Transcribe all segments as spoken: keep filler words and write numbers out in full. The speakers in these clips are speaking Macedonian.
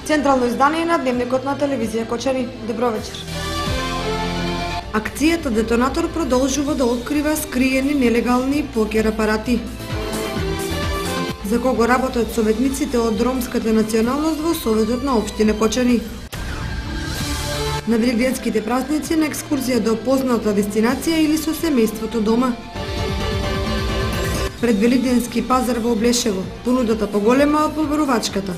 Централно издание на Дневникот на телевизија Кочани. Добро вечер. Акцијата Детонатор продолжува да открива скриени нелегални покер апарати. За кого работат советниците од ромската националност во Советот на општина Кочани. На велигденските празници на екскурзија до позната дестинација или со семејството дома. Пред велигденски пазар во Облешево, понудата поголема од побарувачката.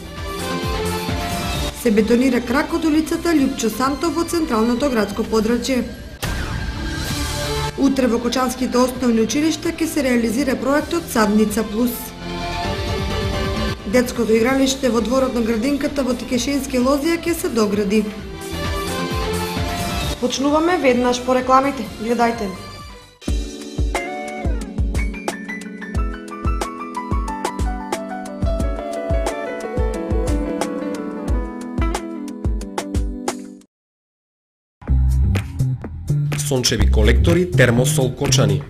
Се бетонира крак од улицата Љупчо Сантов во централното градско подрачје. Утре во Кочанските основни училишта ќе се реализира проектот Садница Плюс. Детското игралиште во дворот на градинката во Тикешински лозија ќе се догради. Почнуваме веднаш по рекламите. Гледајте. Сончеви колектори Термосол Кочани.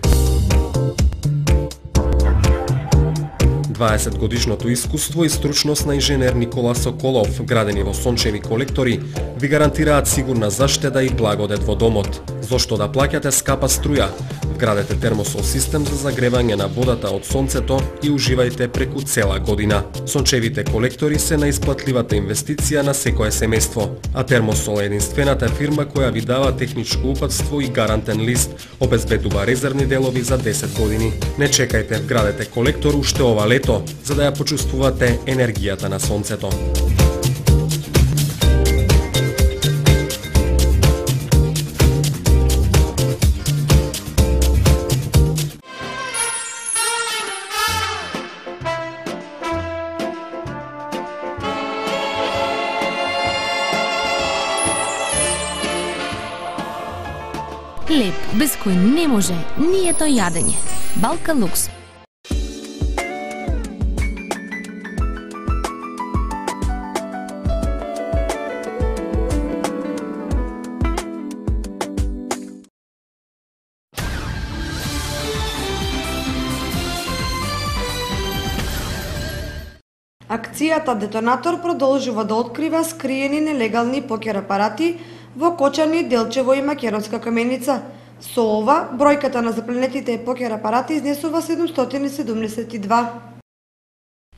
дваесет годишното искуство и стручност на инженер Никола Соколов, градени во сончеви колектори, ви гарантираат сигурна заштеда и благодет во домот. Зошто да плаќате скапа струја? Вградете термосол систем за загревање на водата од сонцето и уживајте преку цела година. Сончевите колектори се наисплатливата инвестиција на секое семејство, а Термосол е единствената фирма која ви дава техничко упатство и гарантен лист, обезбедува резервни делови за десет години. Не чекајте, вградете колектор уште ова лето, за да ја почувствувате енергијата на сонцето. Хлеб, без кој не може нието јадење. Балка Лукс. Акцијата Детонатор продолжува да открива скриени нелегални покер апарати во Кочани, Делчево и Македонска Каменица. Со ова, бројката на запленетите покер апарати изнесува седумстотини седумдесет и два.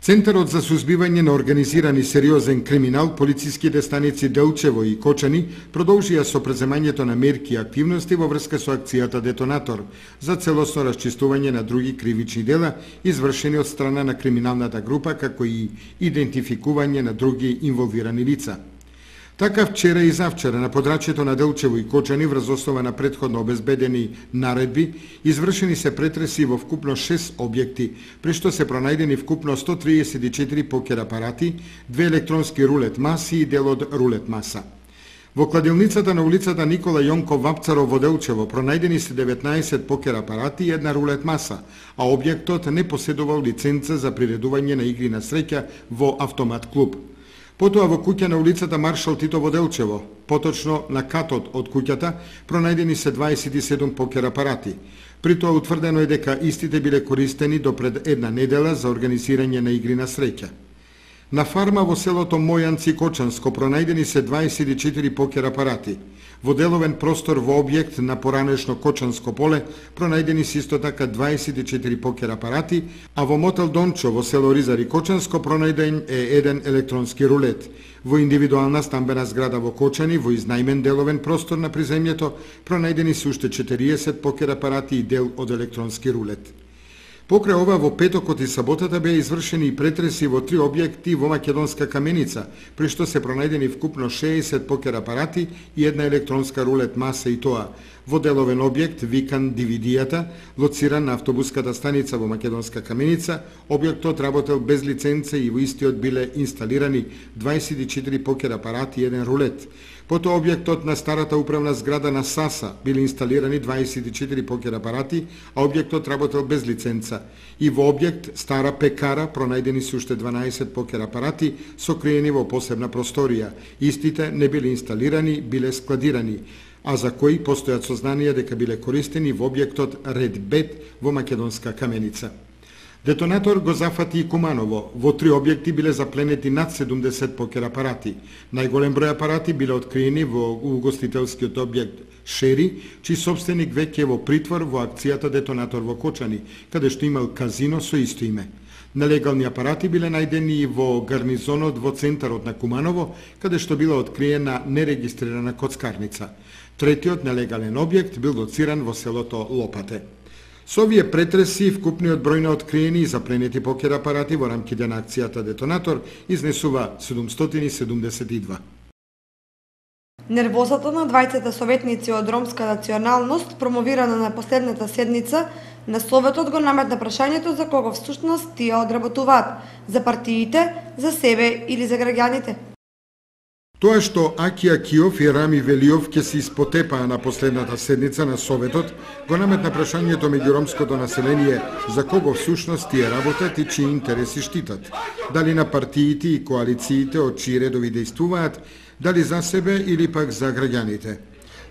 Центарот за сузбивање на организиран и сериозен криминал, полициските станици Делчево и Кочани продолжија со преземањето на мерки и активности во врска со акцијата Детонатор за целосно расчистување на други кривични дела извршени од страна на криминалната група, како и идентификување на други инволвирани лица. Така вчера и завчера на подрачјето на Делчево и Кочани врз основа на претходно обезбедени наредби извршени се претреси во вкупно шест објекти, при што се пронајдени вкупно сто триесет и четири покер апарати, две електронски рулет маси и дел од рулет маса. Во кладилницата на улицата Никола Јонков Вапцаров во Делчево пронајдени се деветнаесет покер апарати и една рулет маса, а објектот не поседувал лиценца за приредување на игри на среќа во автомат клуб. Потоа во куќа на улицата Маршал Тито во Делчево, поточно на катот од куќата, пронајдени се дваесет и седум покер апарати. При тоа утврдено е дека истите биле користени до пред една недела за организирање на игри на среќа. На фарма во селото Мојанци Кочанско пронајдени се дваесет и четири покер апарати. Во деловен простор во објект на поранешно Кочанско поле пронајдени се исто така дваесет и четири покер апарати, а во мотел Дончо во село Ризари Кочанско пронајден е еден електронски рулет. Во индивидуална стамбена зграда во Кочани, во изнајмен деловен простор на приземјето, пронајдени се уште четириесет покер апарати и дел од електронски рулет. Покрај ова, во петокот и саботата беа извршени и претреси во три објекти во Македонска Каменица, при што се пронајдени вкупно шеесет покер апарати и една електронска рулет маса, и тоа во деловен објект викан Дивидијата, лоциран на автобуската станица во Македонска Каменица. Објектот работел без лиценца и во истиот биле инсталирани дваесет и четири покер апарати и еден рулет. Потоа објектот на старата управна зграда на САСА биле инсталирани дваесет и четири покер апарати, а објектот работел без лиценца. И во објект стара пекара пронајдени се уште дванаесет покер апарати сокриени во посебна просторија. Истите не биле инсталирани, биле складирани, а за кои постојат сознанија дека биле користени во објектот Ред Бет во Македонска Каменица. Детонатор го зафати и Куманово. Во три објекти биле запленети над седумдесет покер апарати. Најголем број апарати биле откриени во угостителскиот објект Шери, чиј собственик веќе е во притвор во акцијата Детонатор во Кочани, каде што имал казино со исто име. Нелегални апарати биле најдени и во гарнизонот во центарот на Куманово, каде што била откриена нерегистрирана коцкарница. Третиот нелегален објект бил лоциран во селото Лопате. Со овие претреси, вкупниот број на откриени и запленети покер апарати во рамките на акцијата Детонатор изнесува седумстотини седумдесет и два. Нервозата на двајцата советници од ромска националност, промовирана на последната седница, на Советот го наметна прашањето за кого всушност тие одработуваат, за партиите, за себе или за граѓаните. Тоа што Аки Акиов и Рами Велиов ќе се испотепаа на последната седница на Советот, го наметна прашањето меѓу ромското население за кого всушност тие работат и чии интереси штитат. Дали на партиите и коалициите од чии редови дејствуваат, дали за себе или пак за граѓаните.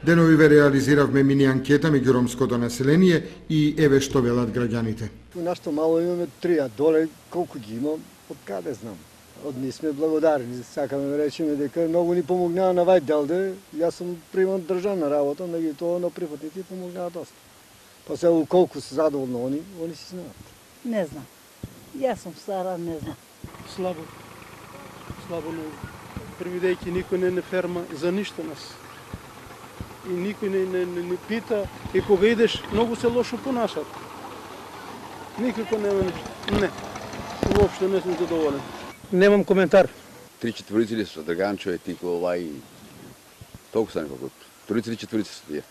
Деновиве реализиравме мини анкета меѓу ромското население и еве што велат граѓаните. Нашто мало имаме три, а доле колку ги имам, од каде знам. Од ние сме благодарни, сакаме да речеме дека многу ни помогнаа на вај делде. Јас сум приман државна работа, меѓутоа на прифатните помогнаа доста. Па се колку се задоволни они, они си знаат. Не знам. Јас сум стара, не знам. Слабо. Слабо не. Предвидејќи никој не не ферма за ништо нас. И никој не, не, не, не пита и кога идеш многу се лошо понашат. Никако нема ништо. Не. Воопшто не сум задоволен. Немам коментар. Три четворици ли со Драганчо, Никола и толку са неколку. Трици или четворици се тие.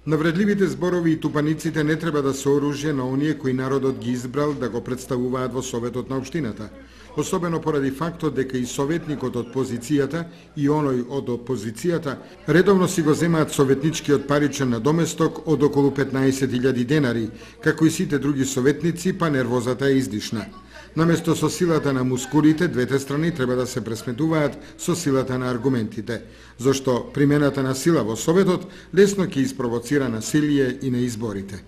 Навредливите зборови и тупаниците не треба да се оружје на оние кои народот ги избрал да го представуваат во Советот на општината. Особено поради фактот дека и советникот од позицијата и оној од опозицијата редовно си го земаат советничкиот паричен надоместок од околу петнаесет илјади денари, како и сите други советници, па нервозата е издишна. Наместо со силата на мускулите, двете страни треба да се пресметуваат со силата на аргументите, зашто примената на сила во Советот лесно ќе испровоцира насилие и на изборите.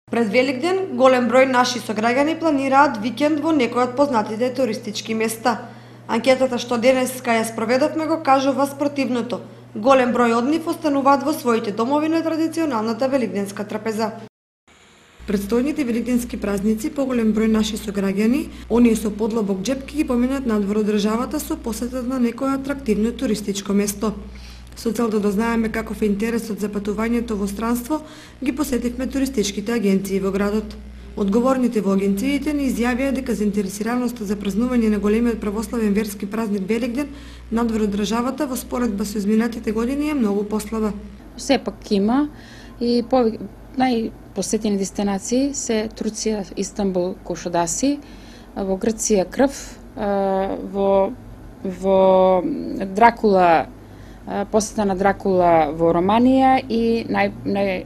Пред Великден, голем број наши сограѓани планираат викенд во некој од познатите туристички места. Анкетата што денеска ја спроведовме го кажува спротивното. Голем број од нив остануваат во своите домови на традиционалната великденска трапеза. Предстојните великденски празници поголем број наши сограѓани, оние со подлабок џеп ќе ги поминат надвор од државата со посета на некое атрактивно туристичко место. Со цел да дознаеме каков е интересот за патувањето во странство, ги посетивме туристичките агенции во градот. Одговорните во агенциите ни изјавија дека заинтересираноста за празнување на големиот православен верски празник Великден надвор од државата во споредба со изминатите години е многу послаба. Сепак има и по најпосетени дестинации се Турција, Истанбул, Кошодаси, во Грција Крв, во во Дракула, посета на Дракула во Романија и нај, нај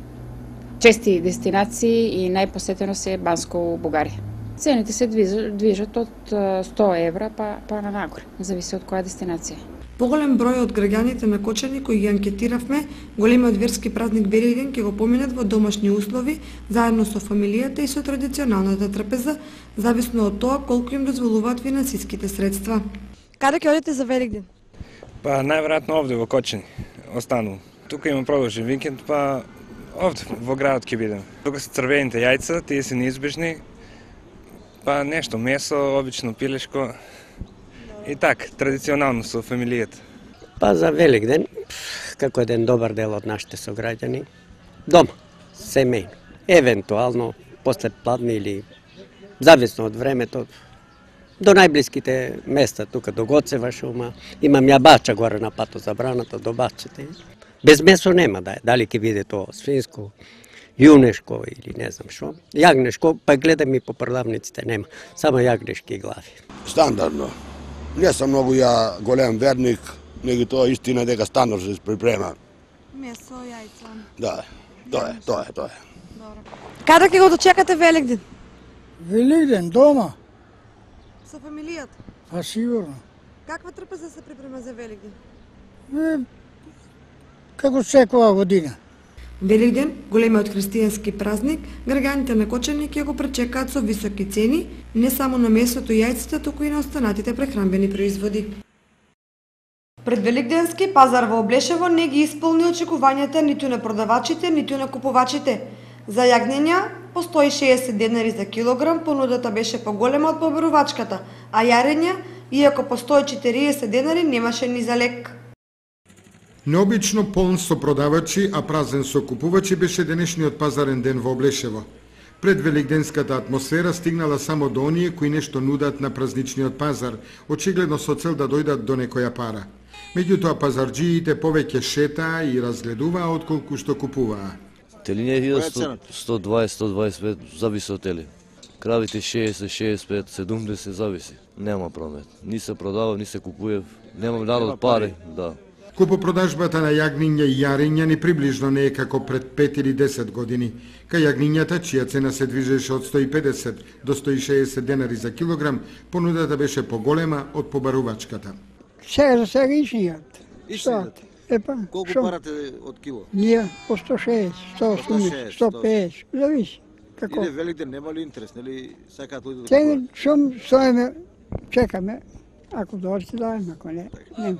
чести дестинации и најпосетено се Банско у Бугарија. Цените се движат од сто евра па, па на нагоре, зависи од која дестинација. Поголем број од граѓаните на Кочани кои ги анкетиравме, големиот верски празник Великден ќе го поминат во домашни услови, заедно со фамилијата и со традиционалната трапеза, зависно од тоа колку им дозволуваат финансиските средства. Каде ќе одите за Великден? Па најверојатно овде во Кочани, останувам. Тука имам продолжен викенд, па овде во градот ќе бидем. Тука се црвените јајца, тие се неизбежни, па нешто месо, обично пилешко и так, традиционално со фамилијата. Па за Великден, како еден добар дел од нашите сограѓани, дома, семејно. Евентуално, после пладни или зависно од времето, до најблиските места, тука до Гоцева шума, имам ја бача горе на пато забраната, до бачите. Без месо нема да е, дали ќе биде тоа свинско, јунешко или не знам што. Јагнешко, па гледам и по продавниците нема, само јагнешки глави. Стандардно. Не сум многу ја голем верник, него тоа истина дека стандардно се припрема. Месо, јајца. Да, тоа е, тоа е, тоа е. Добро. Каде ќе го дочекате Великден? Великден, дома. Со фамилијата? Па сигурно. Каква трпеза се припрема за Великден? Е, како секоја година. Великден, големиот христијански празник, граѓаните на Кочани ќе го пречекаат со високи цени, не само на месото и јајците, туку и на останатите прехранбени производи. Пред Великденски пазар во Облешево не ги исполни очекувањата ниту на продавачите, ниту на купувачите. За јагнења по сто и шеесет денари за килограм понудата беше поголема од побарувачката, а јарења, иако по сто и четириесет денари, немаше ни за лек. Необично полн со продавачи, а празен со купувачи беше денешниот пазарен ден во Облешево. Пред великденската атмосфера стигнала само до оние кои нешто нудат на празничниот пазар, очигледно со цел да дојдат до некоја пара. Меѓутоа пазарџиите повеќе шетаа и разгледуваа отколку што купуваа. Телиња илјада сто дваесет до сто дваесет и пет, зависи од тели. Кравите шеесет, шеесет и пет, седумдесет, зависи. Нема промет. Ни се продава, ни се купува. Немам народ пари, да. Купопродажбата на јагниња и јарења ни приближно не е како пред пет или десет години. Кај јагнињата, чија цена се движеше од сто и педесет до сто и шеесет денари за килограм, понудата беше поголема од побарувачката. Сега за сега ишнијат. Ишнијат? Епа, колку шо? парате од кило? Ние по сто шеесет, сто осумдесет, сто педесет, зависи. Како? Иде Великден, нема ли интерес, нели сакаат луѓе да Сега купуваат? шум стоиме, чекаме. Ако дојдете дајме, ако не, нема.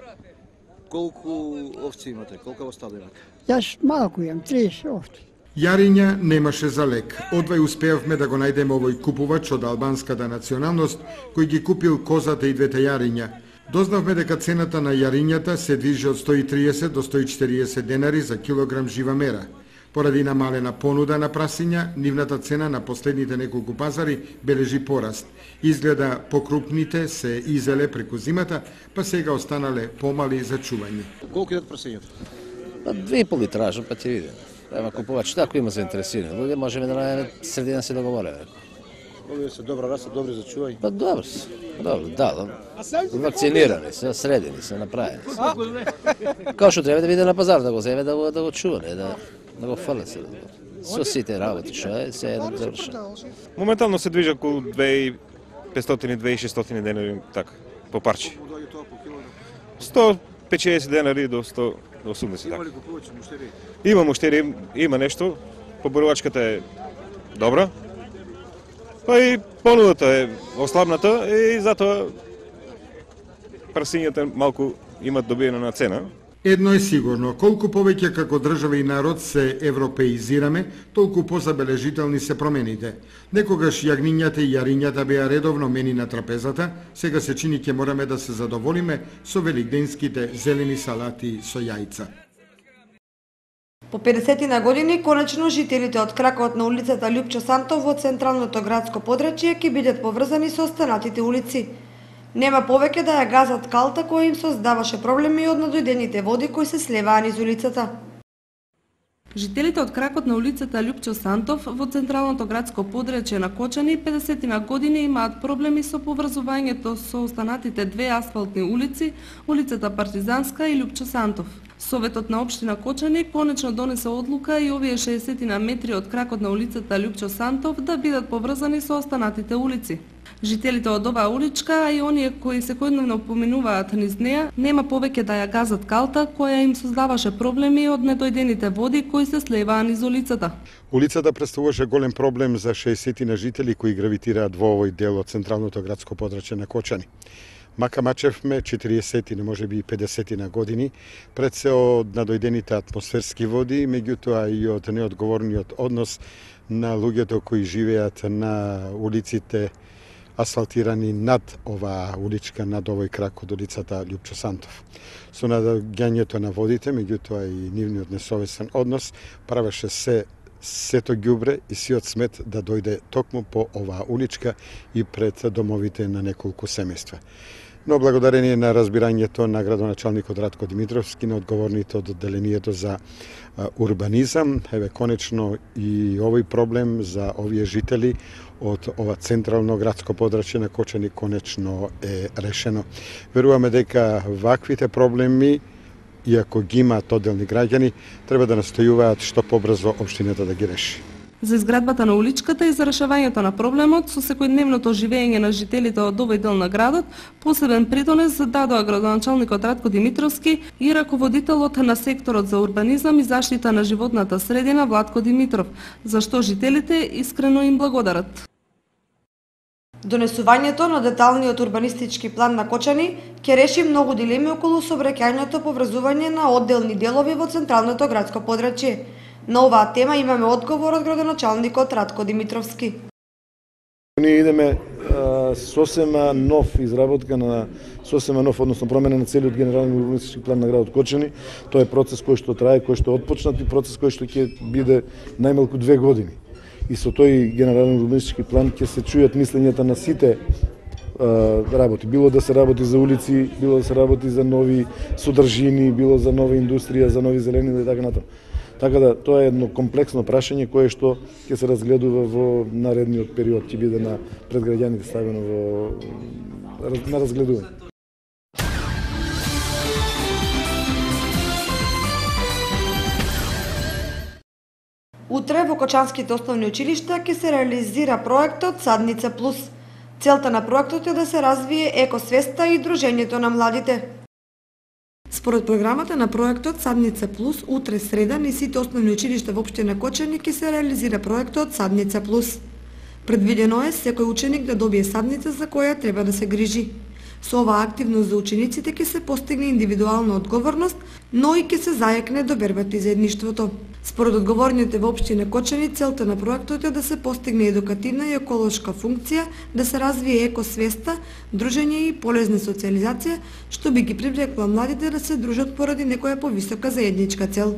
Колку овци имате? Колку остало имате? Јас малку имам, триесет овци. Јарења немаше за лек. Одвај успеавме да го најдеме овој купувач од албанската националност, кој ги купил козата и двете јарења. Дознавме дека цената на јарењата се движи од сто и триесет до сто и четириесет денари за килограм жива мера. Поради намалена понуда на прасиња, нивната цена на последните неколку пазари бележи пораст. Изгледа покрупните се изеле преку зимата, па сега останале помали за чување. Колку идат прасињата? Па две и пол ли тражам, па ќе видим. Ема купувач, ако има заинтересирани луѓе, можеме да најдеме средина се договориме. Овие се добра раса, добри за чување. Па добро се. Добро, да, да. Вакцинирани се, средени се, направени се. Као што треба да биде на пазар, да го земе, да го, да го чува, не, да, да го фрле се. Со сите работи што е, се е завршено. Моментално се движи околу две и петстотини до две и шестстотини денари, така, по парче. сто и педесет денари до сто и осумдесет. Има ли купувачи, муштери? Има муштери, има нешто. Побарувачката е добра. Па и понудата е ослабната и затоа прасињата малку имат добиена на цена. Едно е сигурно, колку повеќе како држава и народ се европеизираме, толку позабележителни се промените. Некогаш јагнињата и јарињата беа редовно мени на трапезата, сега се чини ќе мораме да се задоволиме со великденските зелени салати со јајца. По педесетина години, конечно, жителите од кракот на улицата Лјупчо Сантов во централното градско подрачје ќе бидат поврзани со останатите улици. Нема повеќе да ја газат калта која им создаваше проблеми од надојдените води кои се слеваа низ улицата. Жителите од кракот на улицата Лјупчо Сантов во централното градско подрачје на Кочани педесетина години имаат проблеми со поврзувањето со останатите две асфалтни улици, улицата Партизанска и Лјупчо Сантов. Советот на општина Кочани конечно донесе одлука и овие шеесет метри од кракот на улицата Лјупчо Сантов да бидат поврзани со останатите улици. Жителите од оваа уличка, а и оние кои секојдневно поминуваат низ неа, нема повеќе да ја газат калта која им создаваше проблеми од недојдените води кои се слеваа низ улицата. Улицата представуваше голем проблем за шеесет на жители кои гравитираат во овој дел од централното градско подрачје на Кочани. Мака мачевме четириесет, не може би педесет на години, пред се од надојдените атмосферски води, меѓутоа и од неодговорниот однос на луѓето кои живеат на улиците асфалтирани над оваа уличка, над овој крак од улицата Лјупчо Сантов. Со надоаѓањето на водите, меѓутоа и нивниот несовесен однос, правеше се сето ѓубре и сиот смет да дојде токму по оваа уличка и пред домовите на неколку семејства. Но благодарение на разбирањето на градоначалникот Радко Димитровски, на одговорните од одделението за урбанизам, еве конечно и овој проблем за овие жители од ова централно градско подрачје на Кочани конечно е решено. Веруваме дека ваквите проблеми, иако ги имаат одделни граѓани, треба да настојуваат што побрзо општината да ги реши. За изградбата на уличката и за решавањето на проблемот со секојдневното живење на жителите од овој дел на градот, посебен придонес дадоа градоначалникот Ратко Димитровски и раководителот на секторот за урбанизам и заштита на животната средина Владко Димитров, за што жителите искрено им благодарат. Донесувањето на деталниот урбанистички план на Кочани ќе реши многу дилеми околу сообраќајното поврзување на одделни делови во централното градско подрачје. На оваа тема имаме одговор од градоначалникот Ратко Димитровски. Ние идеме а, сосема нов изработка на сосема нов, односно промена на целиот генерален урбанистички план на градот Кочани. Тоа е процес кој што трае, кој што отпочнат и процес кој што ќе биде најмалку две години. И со тој генерален урбанистички план ќе се чујат мислењата на сите а, работи. Било да се работи за улици, било да се работи за нови содржини, било за нова индустрија, за нови зелени и така натаму. Така да, тоа е едно комплексно прашање кое што ќе се разгледува во наредниот период, ќе биде на пред граѓаните ставено во на разгледување. Утре во Кочанските основни училишта ќе се реализира проектот Садница Плюс. Целта на проектот е да се развие екосвеста и дружењето на младите. Според програмата на проектот Садница Плюс, утре среда низ сите основни училишта во општина Кочани ќе се реализира проектот Садница Плюс. Предвидено е секој ученик да добие садница за која треба да се грижи. Со оваа активност за учениците ќе се постигне индивидуална одговорност, но и ќе се зајакне до бербата и заедништвото. Според одговорните во општина Кочани, целта на проектот е да се постигне едукативна и еколошка функција, да се развие екосвеста, дружење и полезна социализација, што би ги привлекла младите да се дружат поради некоја повисока заедничка цел.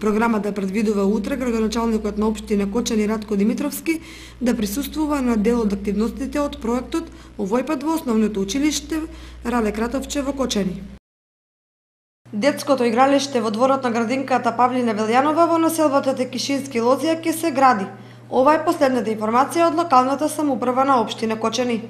Програмата предвидува утре градоначалникот на општина Кочани Ратко Димитровски да присуствува на дел од активностите од проектот, овој пат во основното училиште Рале Кратовче во Кочани. Детското игралиште во дворот на градинката Павлина Велјанова во населбата Текишински Лозија ќе се гради. Ова е последната информација од локалната самоуправа на општина Кочани.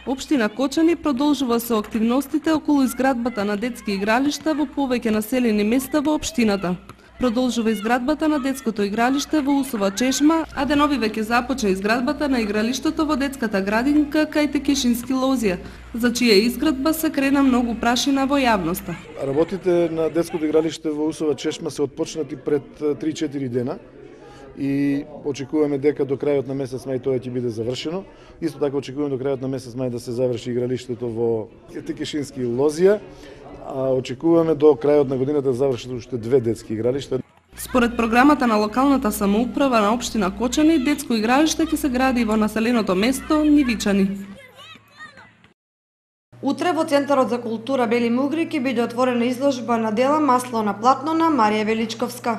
Општина Кочани продолжува со активностите околу изградбата на детски игралишта во повеќе населени места во општината. Продолжува изградбата на детското игралиште во Усова чешма, а денови веќе започна изградбата на игралиштето во детската градинка кај Текишински Лозија, за чија изградба се крена многу прашина во јавноста. Работите на детското игралиште во Усова чешма се отпочнати пред три-четири дена и очекуваме дека до крајот на месец мај тоа ќе биде завршено. Исто така очекуваме до крајот на месец мај да се заврши игралиштето во Текишински Лозија, а очекуваме до крајот на годината да завршат уште две детски игралишта. Според програмата на локалната самоуправа на општина Кочани, детско игралиште ќе се гради во населеното место Нивичани. Утре во Центарот за култура Бели Мугри ќе биде отворена изложба на дела Масло на платно на Марија Величковска.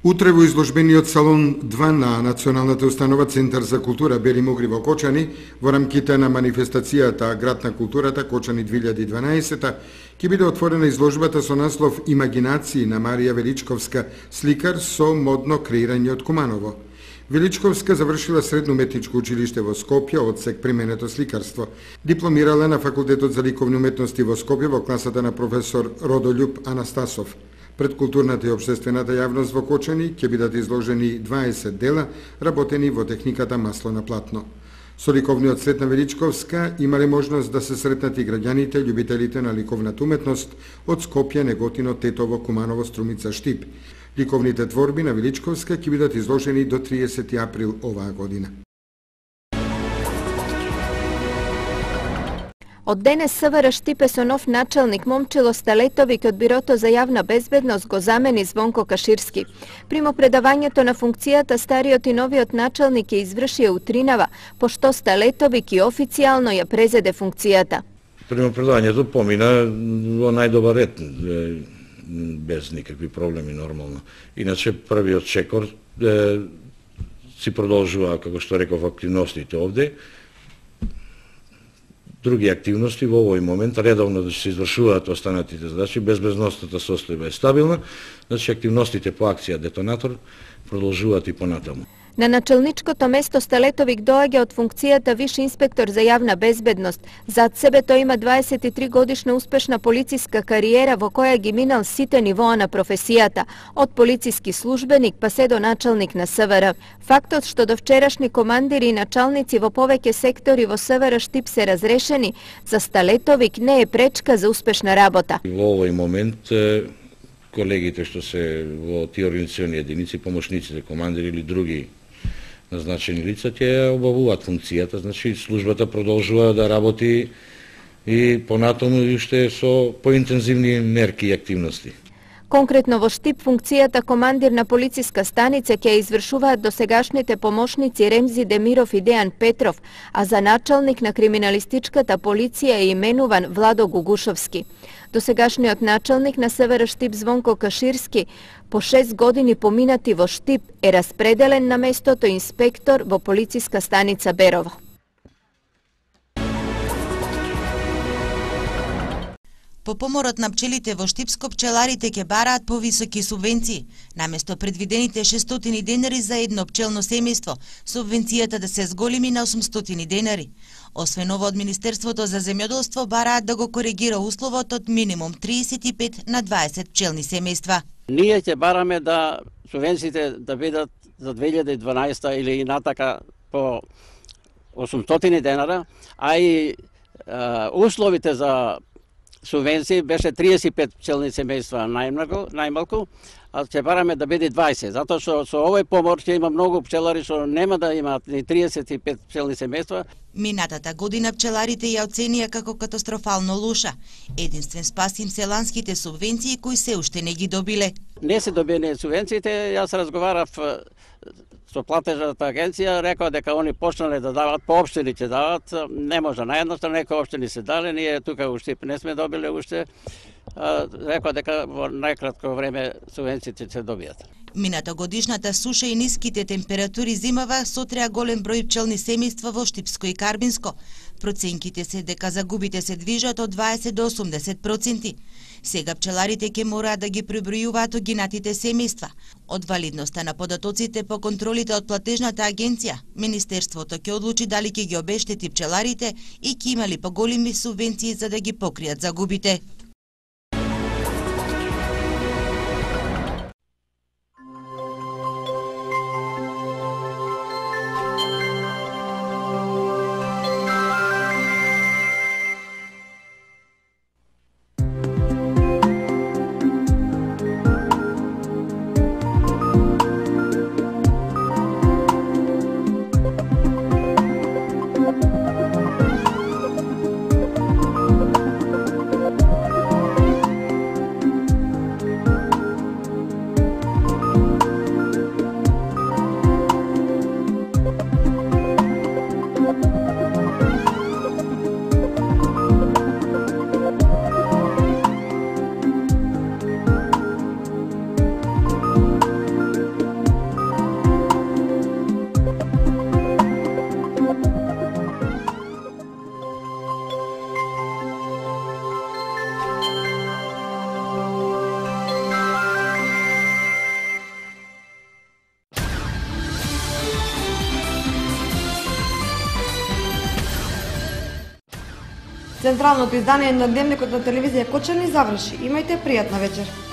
Утре во изложбениот салон два на Националната установа Центар за култура Бели Мугри во Кочани, во рамките на манифестацијата Град на културата Кочани две илјади и дванаесета, ќе биде отворена изложбата со наслов Имагинации на Марија Величковска, сликар со модно креирање од Куманово. Величковска завршила средно уметничко училиште во Скопје, одсек применето сликарство. Дипломирала на Факултетот за ликовни уметности во Скопје во класата на професор Родолюб Анастасов. Пред културната и општествената јавност во Кочани ќе бидат изложени дваесет дела работени во техниката масло на платно. Со ликовниот свет на Величковска имале можност да се сретнат и граѓаните, љубителите на ликовната уметност од Скопје, Неготино, Тетово, Куманово, Струмица, Штип. Ликовните творби на Величковска ќе бидат изложени до триесети април оваа година. Од денес СВР Штипе со нов началник Момчило Сталетовик од Бирото за јавна безбедност го замени Звонко Каширски. Примопредавањето на функцијата стариот и новиот началник ја извршија утринава, пошто Сталетовик и официјално ја презеде функцијата. Примопредавањето помина во најдобар ред, без никакви проблеми нормално. Иначе првиот чекор е, си продолжува, како што реков, активностите овде. Други активности во овој момент редовно да се извршуваат останатите задачи, безбедносната состојба е стабилна, значи активностите по акција Детонатор продолжуваат и понатаму. На начелничкото место Стелетовик доаѓа од функцијата виш инспектор за јавна безбедност. Зад себе тој има дваесет и три годишна успешна полициска кариера во која ги минал сите нивоа на професијата, од полициски службеник па се до началник на СВР. Фактот што до вчерашни командири и началници во повеќе сектори во СВР Штип се разрешени, за Стелетовик не е пречка за успешна работа. Во овој момент колегите што се во тие организациони единици, помошниците, командири или други назначени лица, ќе обавуваат функцијата, значи службата продолжува да работи и понатаму и уште со поинтензивни мерки и активности. Конкретно во Штип функцијата командир на полициска станица ќе извршуваат досегашните помошници Ремзи Демиров и Дејан Петров, а за началник на криминалистичката полиција е именуван Владо Гугушовски. Досегашниот началник на СВР Штип Звонко Каширски по шест години поминати во Штип е распределен на местото инспектор во полициска станица Берово. По поморот на пчелите во Штипско, пчеларите ќе бараат повисоки субвенции. Наместо предвидените шестстотини денари за едно пчелно семејство, субвенцијата да се зголеми на осумстотини денари. Освен ова, од Министерството за земјоделство бараат да го коригира условот од минимум триесет и пет на дваесет пчелни семејства. Ние ќе бараме да субвенциите да бидат за две илјади и дванаесета или и натака по осумстотини денара, а и а, условите за субвенции беше триесет и пет пчелни семејства најмногу, најмалку, а ќе бараме да биде дваесет, затоа што со овој помор ќе има многу пчелари што нема да имаат ни триесет и пет пчелни семејства. Минатата година пчеларите ја оценија како катастрофално лоша. Единствен спас им се ланските субвенции кои се уште не ги добиле. Не се добиени субвенциите, јас разговарав со платежната агенција, рекоа дека они почнале да дават, по општини ќе дават, не може, наједноставно некои општини се дали, ние тука у Штип не сме добиле уште, рекоа дека во најкратко време субвенциите ќе добијат. Мината годишната суша и ниските температури зимава сотреа голем број пчелни семејства во Штипско и Карбинско. Проценките се дека загубите се движат од дваесет до осумдесет проценти. Сега пчеларите ќе мораат да ги пребројуваат огинатите семејства. Од валидноста на податоците по контролите од платежната агенција, Министерството ќе одлучи дали ќе ги обештети пчеларите и ќе имали поголеми субвенции за да ги покријат загубите. Централното издание на Дневникот на телевизија Кочани заврши. Имајте пријатна вечер.